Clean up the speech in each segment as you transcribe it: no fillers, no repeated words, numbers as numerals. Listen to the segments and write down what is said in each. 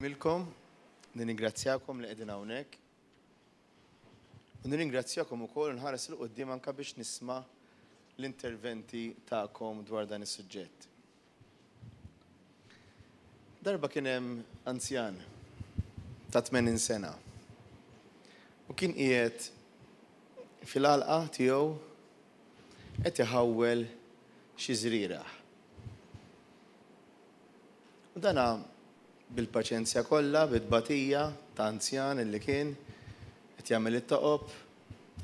Milkom, nirringrazzjakom li qegħdin hawnhekk. U nirringrazzjakom ukoll nħares 'il quddiem anke biex nisma' l-interventi tagħkom dwar dan is-suġġett. Darba kien hemm anzjan ta' 80 sena u kien qiegħed fil-għalqa tiegħu qed iħawwel xi żrieragħ. U dana bil-paċenzja kollha, bit-tbatija ta' anzjan illi kien, qed jagħmel it-toqob,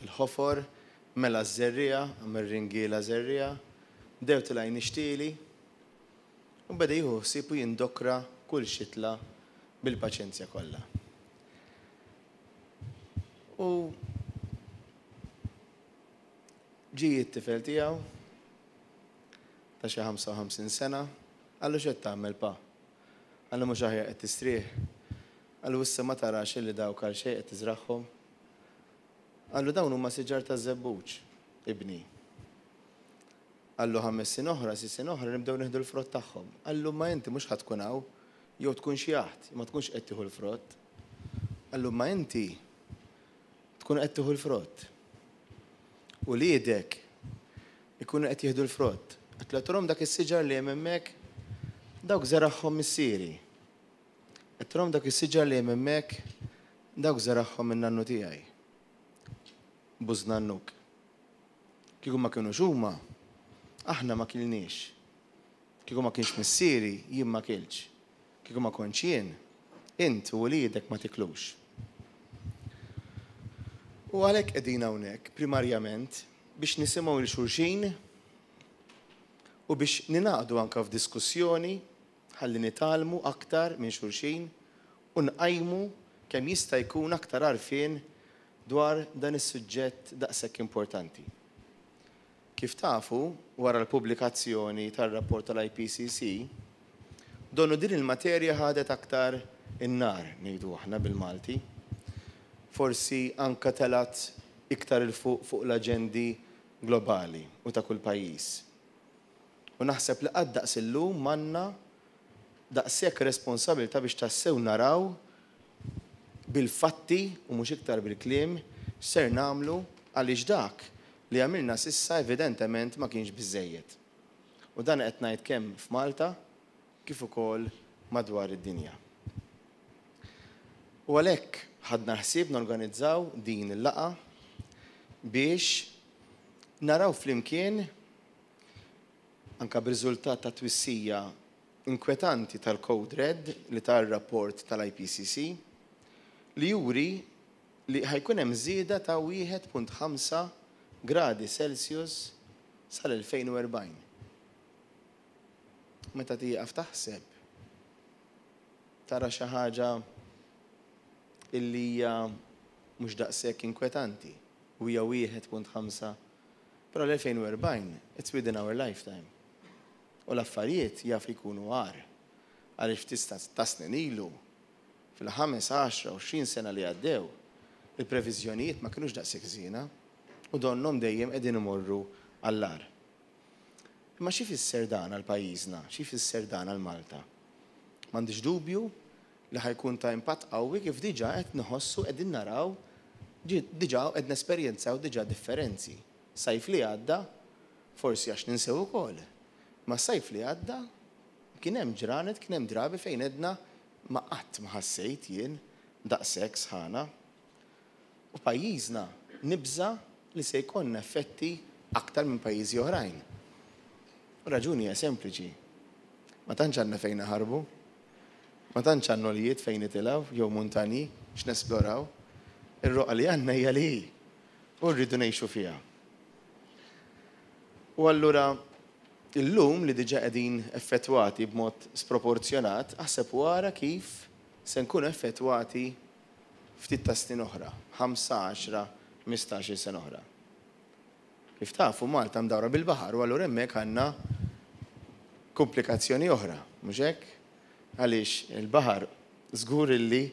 il-ħofor, mela ż-żerriegħa, għamel ringiela żerriegħa, bdew tilgħin ix-xtieli, u beda jieħu ħsieb u jindokra kull xitla bil-paċenzja kollha. U ġie t-tifel tiegħu ta' xi 55 sena, qallu x'qed tagħmel pa? Qallu mhux aħjar qed tistrieħ? Qallu issa ma tarax illi dawk għal xejn qed tiżragħhom? Qallu dawn huma siġar taż-żebbuġ, ibni. Qallu ħames snin oħra, sitt snin oħra nibdew nieħdu l-frott tagħhom. Qallu imma inti mhux ħa tkun hawn, jew tkun xjaħt, ma tkunx qed tieħu l-frott. Qallu imma inti tkun qed tieħu l-frott. Uliedek ikunu qed jieħdu l-frott. Qed turhom dak is-siġar li hemm hemmhekk? Dawk żeragħhom missieri. Qed turhom dak is-siġar li hemm hemmhekk? Dawk żeragħhom in-nannu tiegħi. Bużnannuk. Kieku ma kinux huma, aħna ma kilniex. Kieku ma kienx missieri, jien ma kiltx. Kieku ma kontx jien, int u uliedek ma tiklux. U għalhekk qegħdin hawnhekk, primarjament, biex nisimgħu lil xulxin u biex ningħaqdu anke f'diskussjoni ħalli nitgħallmu aktar minn xulxin u nqajmu kemm jista' jkun aktar għarfien dwar dan is-suġġett daqshekk importanti. Kif tafu, wara l-pubblikazzjoni tar-rapport tal-IPCC, donnu din il-materja ħadet aktar in-nar, ngħidu aħna bil-Malti. Forsi anke telgħet iktar 'il fuq fuq l-aġendi globali u ta' kull pajjiż. U naħseb li qatt daqs illum m'għandna daqshekk responsabilità biex tassew naraw bil-fatti u mhux iktar bil-kliem x'ser nagħmlu għaliex dak li għamilna s'issa evidentement ma kienx biżżejjed. U dan qed ngħid kemm f'Malta kif ukoll madwar id-dinja. U għalhekk ħadna ħsieb norganizzaw din il-laqgħa biex naraw flimkien anke b'riżultat ta' twissija inkwetanti tal-Code Red li ta r-rapport tal-IPCC li juri li ħa jkun hemm żieda ta' 1.5 gradi Celsius sal-2040. Meta tieqaf taħseb, tara xi ħaġa illi hija mhux daqshekk inkwetanti u hija 1.5 però l-2040 it's within our lifetime. U l-affarijiet jaf jkunu agħar għaliex ftit ta' snin ilu, fil-ħames, għaxra, 20 sena li għaddew, il-previżjonijiet ma kinux daqshekk żiena u donnhom dejjem qegħdin imorru għall-agħar. Imma x'ifisser dan għal pajjiżna? X'ifisser dan għal Malta? M'għandix dubju li ħa jkun ta' impatt qawwi kif diġà qed nħossu qegħdin naraw diġà qed nesperjenzaw diġà differenzi. Sajf li għadda, forsi għax ninsew ukoll, imma s-sajf li għadda kien hemm ġranet, kien hemm drabi fejn għedna ma qatt ma ħassejt jien daqshekk sħana. U pajjiżna nibża' li se jkollna effetti aktar minn pajjiżi oħrajn. U r-raġuni hija sempliċi. Ma tantx għandna fejn naħarbu. Ma tantx għandna għoljiet fejn nitilgħu jew muntanji x'nesploraw. Ir-roqgħa li għandna hija li hi u rridu ngħixu fiha. U allura illum li diġà qegħdin effettwati b'mod sproporzjonat, aħseb u ara kif se nkunu effettwati ftit ta' snin oħra, ħamsa, għaxra, 15-il sena oħra. Kif tafu, Malta mdawra bil-baħar u allura hemmhekk għandna komplikazzjoni oħra, mhux hekk? Għaliex il-baħar żgur illi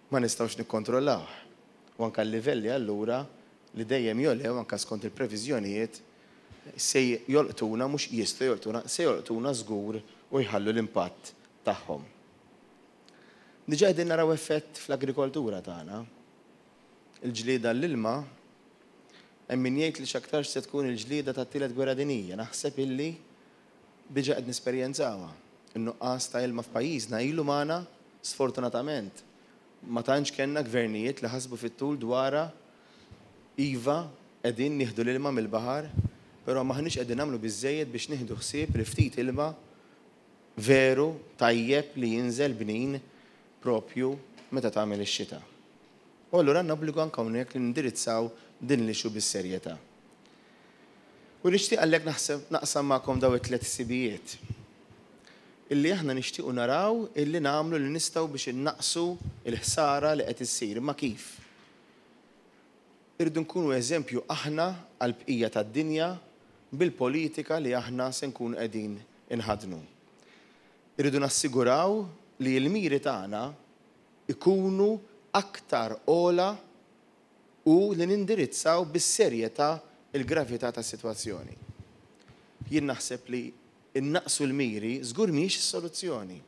ma nistgħux nikkontrollawh. U anke l-livelli allura li dejjem jogħlew anke skont il-previżjonijiet se jolqtuna, mhux jistgħu jolqtuna, se jolqtuna żgur u jħallu l-impatt tagħhom. Diġà qegħdin naraw effett fl-agrikoltura tagħna. Il-ġlieda għall-ilma hemm min jgħid li x'aktarx se tkun il-ġlieda tat-tielet gwerra dinjija. Naħseb illi diġà qed nesperjenzawha. In-nuqqas ta' ilma f'pajjiżna ilu magħna sfortunatament. Ma tantx kellna gvernijiet li ħasbu fit-tul dwarha. Iva, qegħdin nieħdu l-ilma mill-baħar, però m'aħniex qegħdin nagħmlu biżżejjed biex nieħdu ħsieb il-ftit ilma veru tajjeb li jinżel bnin propju meta tagħmel ix-xita. U allura għandna obbligu anke hawnhekk li nindirizzaw din l-issue bis-serjetà. U nixtieq għalhekk naħseb naqsam magħkom dawn it-tliet ħsibijiet illi aħna nixtiequ naraw illi nagħmlu li nistgħu biex innaqqsu l-ħsara li qed issir. Imma kif? Irridu nkunu eżempju aħna għall-bqija tad-dinja bil-politika li aħna se nkunu qegħdin inħaddnu. Irridu nassiguraw li l-miri tagħna jkunu aktar ogħla u li nindirizzaw bis-serjetà l-gravità tas-sitwazzjoni. Jien naħseb li nnaqqsu l-miri żgur mhijiex is-soluzzjoni.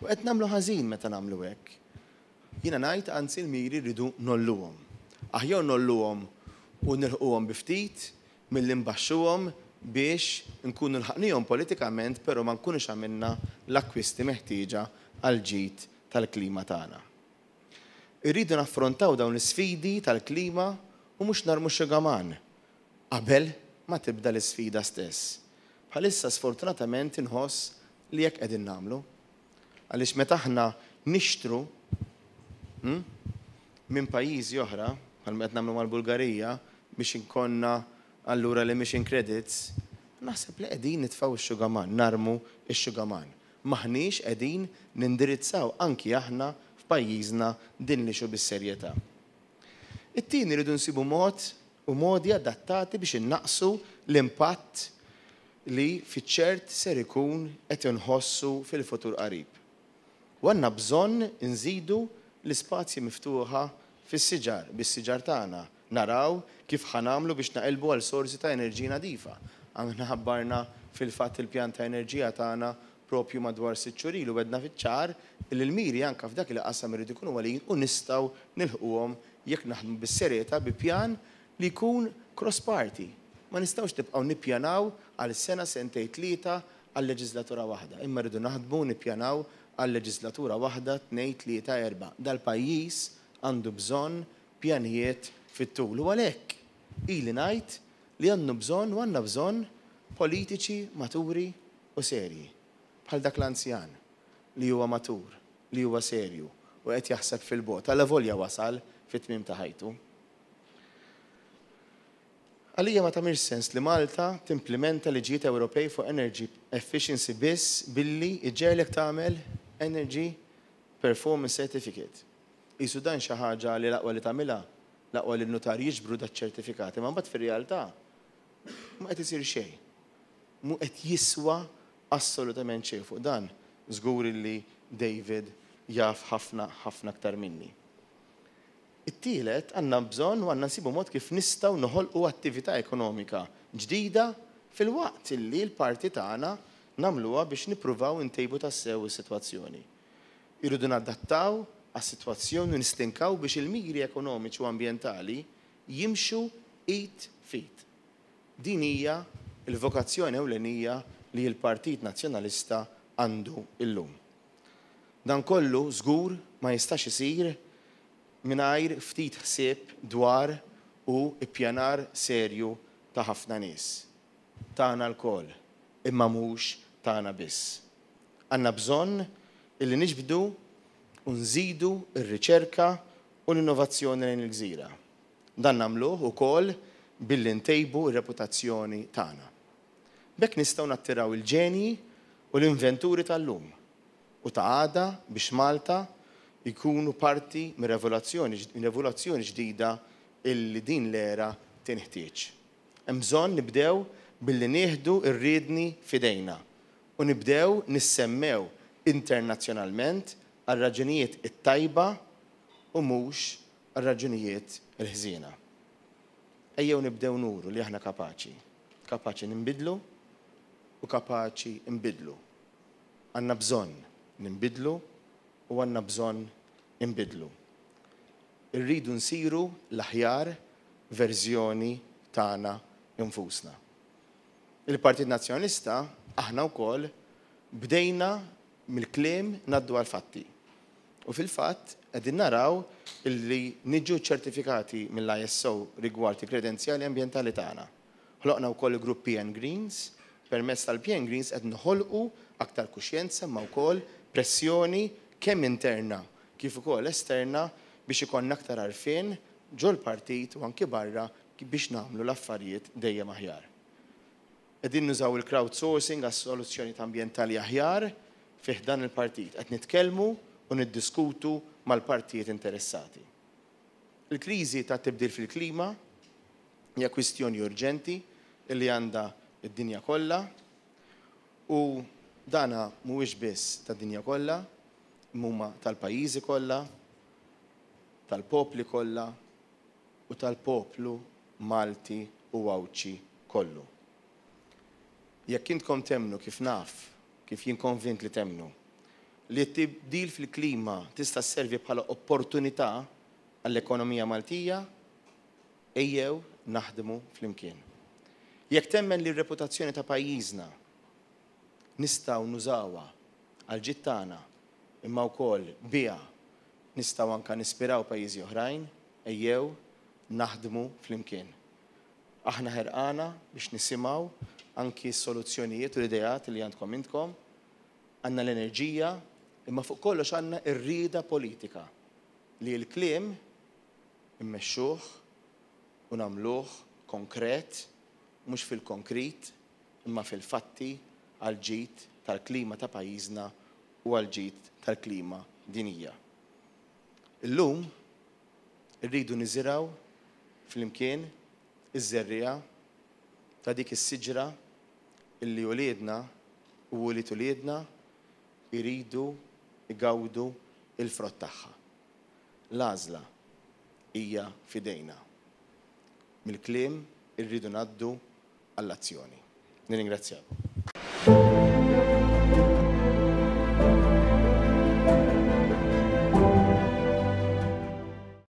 U qed nagħmlu ħażin meta nagħmlu hekk. Jiena ngħid anzi l-miri rridu ngħolluhom. Aħjar ngħolluhom u nilħquhom bi ftit milli nbaxxuhom biex nkunu lħaqnihom politikament però ma nkunux għamilna l-akkwisti meħtieġa għall-ġid tal-klima tagħna. Irridu naffrontaw dawn l-isfidi tal-klima u mhux narmu x-xugaman qabel ma tibda l-isfida stess. Bħalissa sfortunatament inħoss li hekk qegħdin nagħmlu. Għaliex meta aħna nixtru minn pajjiżi oħra, bħalma qed nagħmlu mal-Bulgarija, biex ikollna allura l-emission credits, naħseb li qegħdin nitfgħu x-xugaman, narmu x-xugaman. M'aħniex qegħdin nindirizzaw anki aħna f'pajjiżna din l-issue bis-serjetà. It-tieni rridu nsibu mod u modi adattati biex innaqqsu l-impatt li fiċ-ċert ser ikun qed inħossu fil-futur qarib. U għandna bżonn inżidu l-ispazji miftuħa fis-siġar, bis-siġar tagħna, naraw kif ħa nagħmlu biex naqilbu għal sorsi ta' enerġija nadifa. Aħna ħabbarna fil-fatt il-pjan ta' enerġija tagħna propju madwar 6 xhur ilu għedna fiċ-ċar li l-miri anke f'dak il-qasam iridu jkunu għoljin u nistgħu nilħquhom jekk naħdmu bis-serjetà bi pjan li jkun cross party. Ma nistgħux nibqgħu nippjanaw għal sena, sentejn, tlieta għal leġislatura waħda, imma rridu naħdmu u nippjanaw għal leġislatura waħda, tnejn, tlieta, erbgħa. Dal-pajjiż għandu bżonn pjanijiet fit-tul u għalhekk ili ngħid li għandu bżonn u għandna bżonn politiċi maturi u serji. Bħal dak l-anzjan li huwa matur, li huwa serju u qed jaħseb fil-bogħod, allavolja wasal fit-tmiem ta' ħajtu. Għalija ma tagħmilx sens li Malta timplimenta liġijiet Ewropej fuq energy efficiency biss billi iġegħlek tagħmel Energy Performance Certificate. Qisu dan xi ħaġa li l-aqwa li tagħmilha, l-aqwa li n-nutar jiġbru daċ-ċertifikat, imma mbagħad fir-realtà ma qed isir xejn. Mhu qed jiswa assolutament xejn fuq dan, żgur illi David jaf ħafna ħafna aktar minni. It-tielet, għandna bżonn u għandna nsibu mod kif nistgħu noħolqu attività ekonomika ġdida filwaqt illi l-parti tagħna nagħmluha biex nippruvaw intejbu tassew is-sitwazzjoni. Irridu nadattaw għas-sitwazzjoni u nistinkaw biex il-miri ekonomiċi u ambjentali jimxu id f'id. Din hija l-vokazzjoni ewlenija li l-Partit Nazzjonalista għandu llum. Dan kollu żgur ma jistax isir mingħajr ftit ħsieb dwar u ippjanar serju ta' ħafna nies. Tagħna lkoll, imma mhux tagħna biss. Għandna bżonn illi niġbdu u nżidu r-riċerka u l-innovazzjoni lejn il-gżira. Dan nagħmluh ukoll billi ntejbu r-reputazzjoni tagħna. B'hekk nistgħu nattiraw il-ġenji u l-inventuri tal-lum u ta' għada biex Malta jkunu parti mir-revoluzzjoni ġdida illi din l-era tinħtieġ. Hemm bżonn nibdew billi nieħdu r-riedni f'idejna u nibdew nissemmew internazzjonalment għar-raġunijiet it-tajba u mhux għar-raġunijiet il-ħżiena. Ejjew nibdew nuru li aħna kapaċi. Kapaċi ninbidlu u kapaċi nbiddlu. Għandna bżonn ninbidlu u għandna bżonn inbiddlu. Irridu nsiru l-aħjar verżjoni tagħna nfusna. Il-Partit Nazzjonalista aħna wkoll bdejna mill-kliem ngħaddu għall-fatti. U fil-fatt qegħdin naraw illi niġu ċċertifikati mill-ISO rigward il-kredenzjali ambjentali tagħna. Ħloqna wkoll il-grupp PN Greens, permezz tal-PN Greens qed noħolqu aktar kuxjenza imma wkoll pressjoni kemm interna kif ukoll esterna biex ikollna aktar għarfien ġol-partit u anki barra biex nagħmlu l-affarijiet dejjem aħjar. Qegħdin nużaw il-crowdsourcing għal soluzzjonijiet ambjentali aħjar fi ħdan il-partit. Qed nitkellmu u niddiskutu mal-partijiet interessati. Il-kriżi tat-tibdil fil-klima hija kwistjoni urġenti li għandha d-dinja kollha u dana mhuwiex biss tad-dinja kollha imma huma tal-pajjiżi kollha, tal-popli kollha u tal-poplu Malti u Għawdxi kollu. Jekk intkom temmnu kif naf, kif jien konvint li temmnu, li t-tibdil fil-klima tista' sservi bħala opportunità għall-ekonomija Maltija, ejjew naħdmu flimkien. Jekk temmen li r-reputazzjoni ta' pajjiżna nistgħu nużawha għall-ġid tagħna imma wkoll biha nistgħu anke nispiraw pajjiżi oħrajn, ejjew naħdmu flimkien. Aħna ħerqana biex nisimgħu anki s-soluzzjonijiet u l-ideat li għandkom intkom. Għandna l-enerġija, imma fuq kollox għandna r-rieda politika li l-kliem immexxuh u nagħmluh konkret, mhux fil-konkrit imma fil-fatti għall-ġid tal-klima ta' pajjiżna u għall-ġid tal-klima dinjija. Illum irridu niżirgħu flimkien iż-żerriegħa ta' dik is-siġra illi uliedna u ulied uliedna jridu jgawdu l-frott tagħha. L-għażla hija f'idejna. Mill-kliem irridu ngħaddu għall-azzjoni. Nirringrazzjakom.